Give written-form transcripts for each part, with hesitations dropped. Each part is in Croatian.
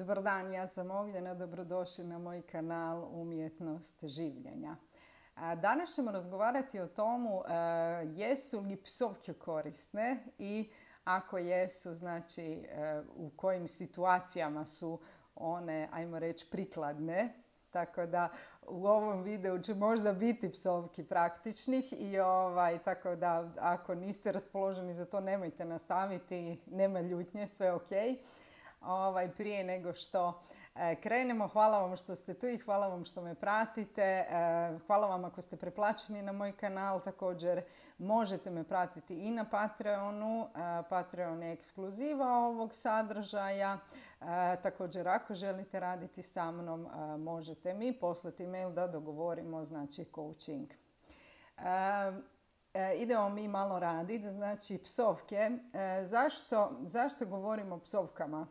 Dobar dan, ja sam Ognjena, dobrodošli na moj kanal Umjetnost življenja. Danas ćemo razgovarati o tomu jesu li psovke korisne i ako jesu, znači u kojim situacijama su one, ajmo reći, prikladne. Tako da u ovom videu će možda biti psovki praktičnih i tako da ako niste raspoloženi za to nemojte nastaviti, nema ljutnje, sve ok. Prije nego što krenemo, hvala vam što ste tu i hvala vam što me pratite. Hvala vam ako ste preplaćeni na moj kanal. Također možete me pratiti i na Patreonu. Patreon je ekskluziva ovog sadržaja. Također ako želite raditi sa mnom možete mi poslati mail da dogovorimo, znači, coaching. Idemo mi malo raditi. Znači, psovke. Zašto govorimo o psovkama?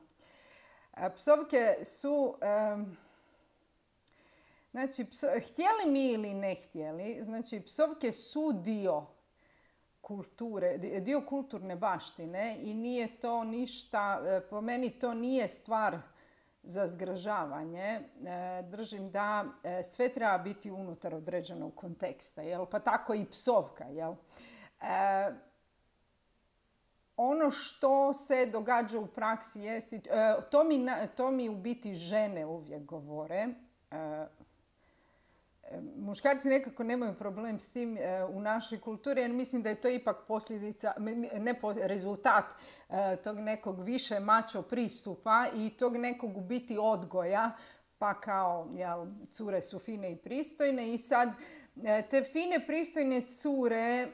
Psovke su, znači, htjeli mi ili ne htjeli, znači psovke su dio kulture, dio kulturne baštine i nije to ništa, po meni to nije stvar za zgražavanje. Držim da sve treba biti unutar određenog konteksta, jel? Pa tako i psovka, jel? Ono što se događa u praksi jest, to mi u biti žene uvijek govore. Muškarci nekako nemaju problem s tim u našoj kulturi, jer mislim da je to ipak posljedica, rezultat tog nekog više mačo pristupa i tog nekog u biti odgoja, pa kao, jel, cure su fine i pristojne i sad te fine pristojne cure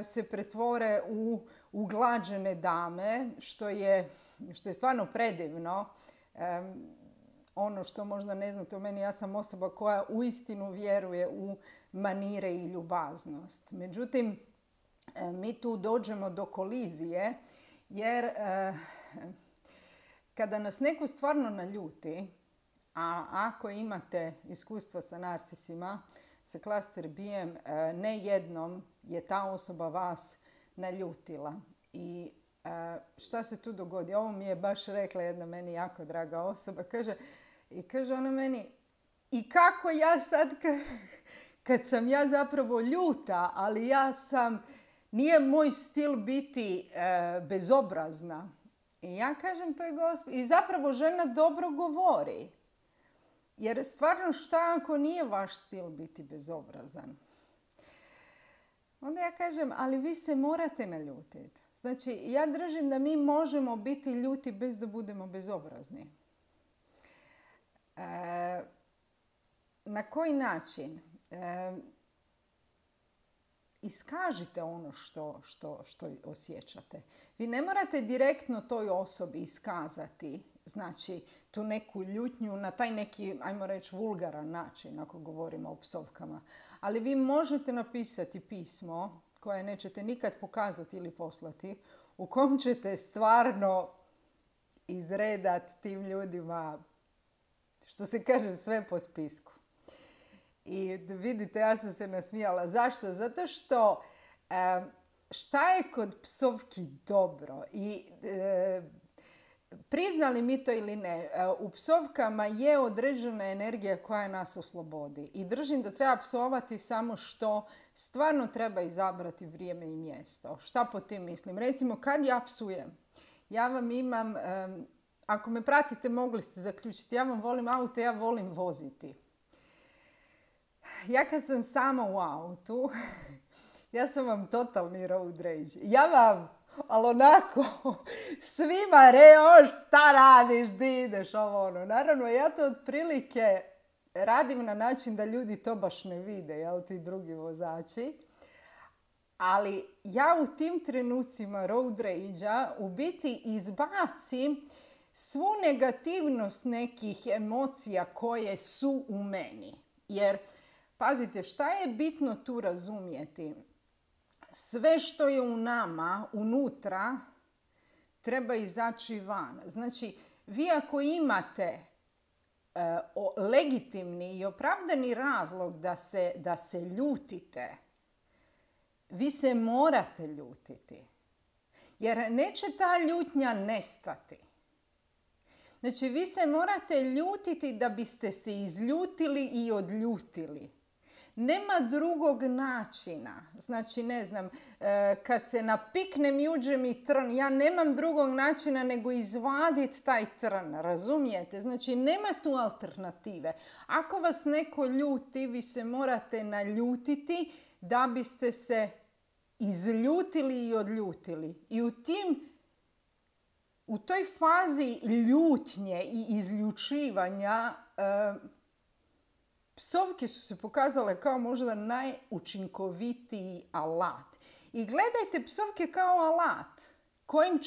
se pretvore u uglađene dame, što je stvarno predivno. Ono što možda ne znate o meni, ja sam osoba koja uistinu vjeruje u manire i ljubaznost. Međutim, mi tu dođemo do kolizije, jer kada nas neko stvarno naljuti, a ako imate iskustva sa narcisima, sa klaster B-em, ne jednom je ta osoba vas naljutila. I šta se tu dogodi? Ovo mi je baš rekla jedna meni jako draga osoba. Kaže ona meni, i kako ja sad, kad sam ja zapravo ljuta, ali nije moj stil biti bezobrazna. I ja kažem toj gospođi, i zapravo žena dobro govori. Jer stvarno šta ako nije vaš stil biti bezobrazan? Onda ja kažem, ali vi se morate naljutiti. Znači, ja držim da mi možemo biti ljuti bez da budemo bezobrazni. Na koji način? Iskažite ono što osjećate. Vi ne morate direktno toj osobi iskazati, znači, tu neku ljutnju na taj neki, ajmo reći, vulgaran način, ako govorimo o psovkama. Ali vi možete napisati pismo koje nećete nikad pokazati ili poslati, u kom ćete stvarno izredati tim ljudima, što se kaže, sve po spisku. I vidite, ja sam se nasmijala. Zašto? Zato što šta je kod psovki dobro? I priznali mi to ili ne, u psovkama je određena energija koja nas oslobodi. I držim da treba psovati samo što stvarno treba izabrati vrijeme i mjesto. Šta po tim mislim? Recimo, kad ja psujem, ja vam imam, ako me pratite mogli ste zaključiti, ja vam volim auto, ja volim voziti. Ja kad sam sama u autu, ja sam vam totalni road rage. Ja vam, ali onako, svima šta radiš, di ideš, ovo ono. Naravno, ja to otprilike radim na način da ljudi to baš ne vide, jel, ti drugi vozači. Ali ja u tim trenucima road rage-a u biti izbacim svu negativnost nekih emocija koje su u meni. Jer, pazite, šta je bitno tu razumjeti? Sve što je u nama, unutra, treba izaći van. Znači, vi ako imate legitimni i opravdani razlog da se ljutite, vi se morate ljutiti. Jer neće ta ljutnja nestati. Znači, vi se morate ljutiti da biste se izljutili i odljutili. Nema drugog načina. Znači, ne znam, kad se napiknem i uđe mi trn, ja nemam drugog načina nego izvaditi taj trn, razumijete? Znači, nema tu alternative. Ako vas neko ljuti, vi se morate naljutiti da biste se izljutili i odljutili. I u toj fazi ljutnje i izljučivanja psovke su se pokazale kao možda najučinkovitiji alat. I gledajte psovke kao alat kojim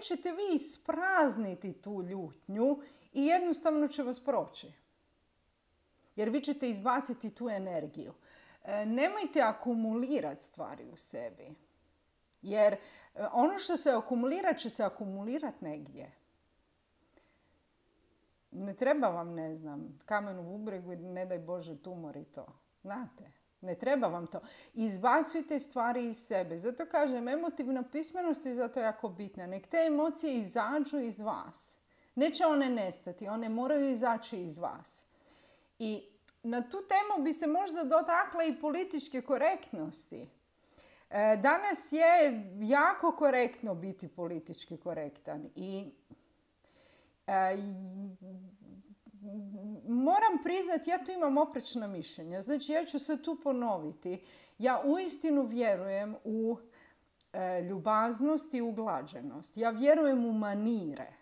ćete vi isprazniti tu ljutnju i jednostavno će vas proći. Jer vi ćete izbaciti tu energiju. Nemojte akumulirati stvari u sebi. Jer ono što se akumulira će se akumulirati negdje. Ne treba vam, ne znam, kamen u bubregu i ne daj Bože tumor i to. Znate, ne treba vam to. Izbacujte stvari iz sebe. Zato kažem, emotivna pismenost je zato jako bitna. Nek te emocije izađu iz vas. Neće one nestati, one moraju izaći iz vas. I na tu temu bi se možda dotakla i političke korektnosti. Danas je jako korektno biti politički korektan i moram priznati, ja tu imam oprečna mišljenja. Znači, ja ću se tu ponoviti. Ja uistinu vjerujem u ljubaznost i uglađenost. Ja vjerujem u manire.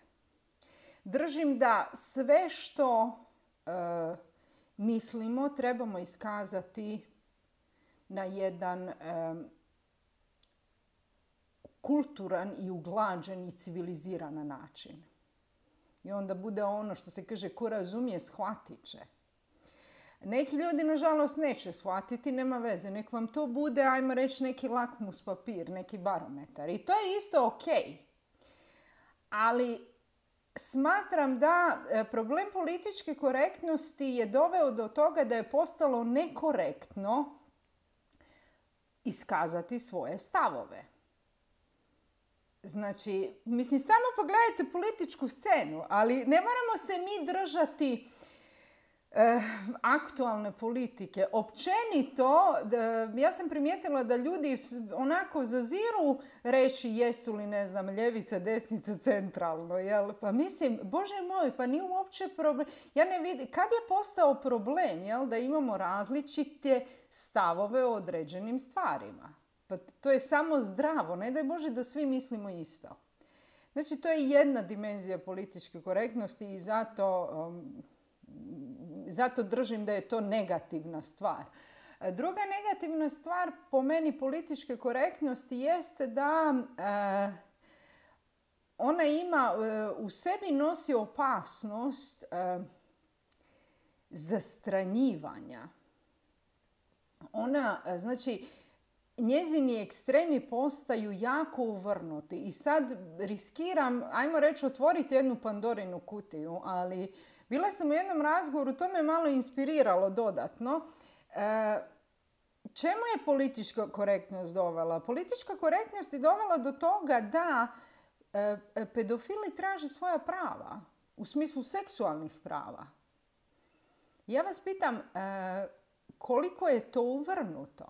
Držim da sve što mislimo trebamo iskazati na jedan kulturan i uglađen i civiliziran način. I onda bude ono što se kaže, ko razumije, shvatit će. Neki ljudi, nažalost, neće shvatiti, nema veze. Nek vam to bude, ajmo reći, neki lakmus papir, neki barometar. I to je isto ok. Ali smatram da problem političke korektnosti je doveo do toga da je postalo nekorektno iskazati svoje stavove. Znači, mislim, samo pogledajte političku scenu, ali ne moramo se mi držati aktualne politike. Općenito, ja sam primijetila da ljudi onako zaziru reći jesu li, ne znam, ljevica, desnica, centralno. Jel? Pa mislim, Bože moj, pa nije uopće problem. Ja ne vidim, kad je postao problem, jel, da imamo različite stavove o određenim stvarima? Pa to je samo zdravo. Ne daj Bože da svi mislimo isto. Znači, to je jedna dimenzija političke korektnosti i zato držim da je to negativna stvar. Druga negativna stvar po meni političke korektnosti jeste da ona ima u sebi nosi opasnost zastranjivanja. Ona, znači, njezini ekstremi postaju jako uvrnuti i sad riskiram, ajmo reći, otvoriti jednu Pandorinu kutiju, ali bila sam u jednom razgovoru, to me malo inspiriralo dodatno. Čemu je politička korektnost dovela? Politička korektnost je dovela do toga da pedofili traže svoja prava, u smislu seksualnih prava. Ja vas pitam, koliko je to uvrnuto?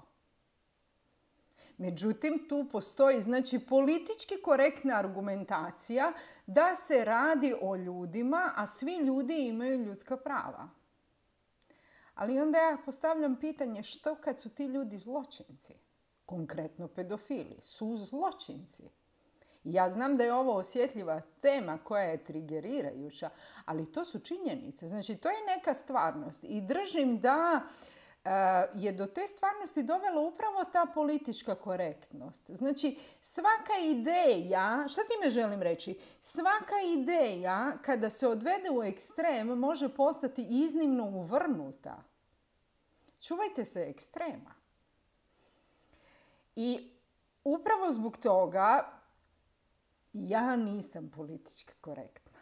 Međutim, tu postoji, znači, politički korektna argumentacija da se radi o ljudima, a svi ljudi imaju ljudska prava. Ali onda ja postavljam pitanje, što kad su ti ljudi zločinci? Konkretno pedofili su zločinci. Ja znam da je ovo osjetljiva tema koja je trigerirajuća, ali to su činjenice. Znači, to je neka stvarnost i držim da je do te stvarnosti dovela upravo ta politička korektnost. Znači, svaka ideja, šta time želim reći? Svaka ideja kada se odvede u ekstrem može postati iznimno uvrnuta. Čuvajte se ekstrema. I upravo zbog toga ja nisam politički korektna.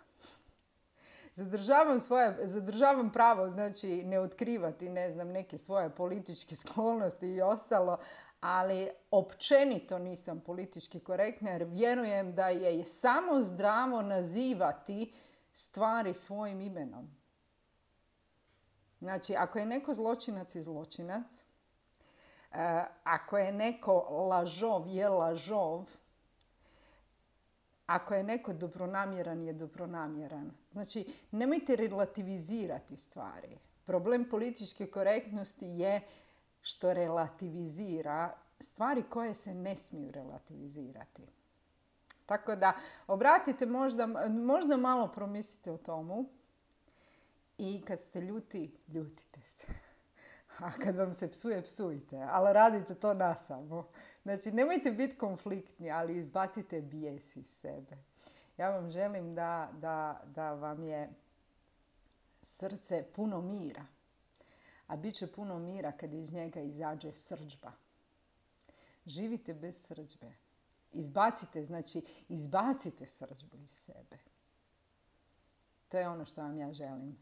Zadržavam pravo, znači, ne otkrivati, ne znam, neke svoje političke sklonosti i ostalo, ali općenito nisam politički korektna jer vjerujem da je samo zdravo nazivati stvari svojim imenom. Znači, ako je neko zločinac je zločinac, ako je neko lažov je lažov, ako je neko dobronamjeran je dobronamjeran. Znači, nemojte relativizirati stvari. Problem političke korektnosti je što relativizira stvari koje se ne smiju relativizirati. Tako da, obratite možda malo promislite o tomu i kad ste ljuti, ljutite se. A kad vam se psuje, psujte. Ali radite to nasamo. Znači, nemojte biti konfliktni, ali izbacite bijes iz sebe. Ja vam želim da vam je srce puno mira. A bit će puno mira kad iz njega izađe srdžba. Živite bez srdžbe. Izbacite srdžbu iz sebe. To je ono što vam ja želim.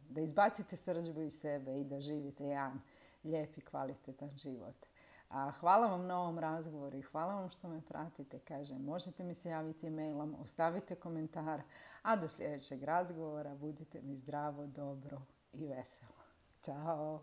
Da izbacite srdžbu iz sebe i da živite jedan lijep i kvalitetan život. Hvala vam na ovom razgovoru i hvala vam što me pratite. Kažem, možete mi se javiti mailom, ostavite komentar, a do sljedećeg razgovora budite mi zdravo, dobro i veselo. Ćao!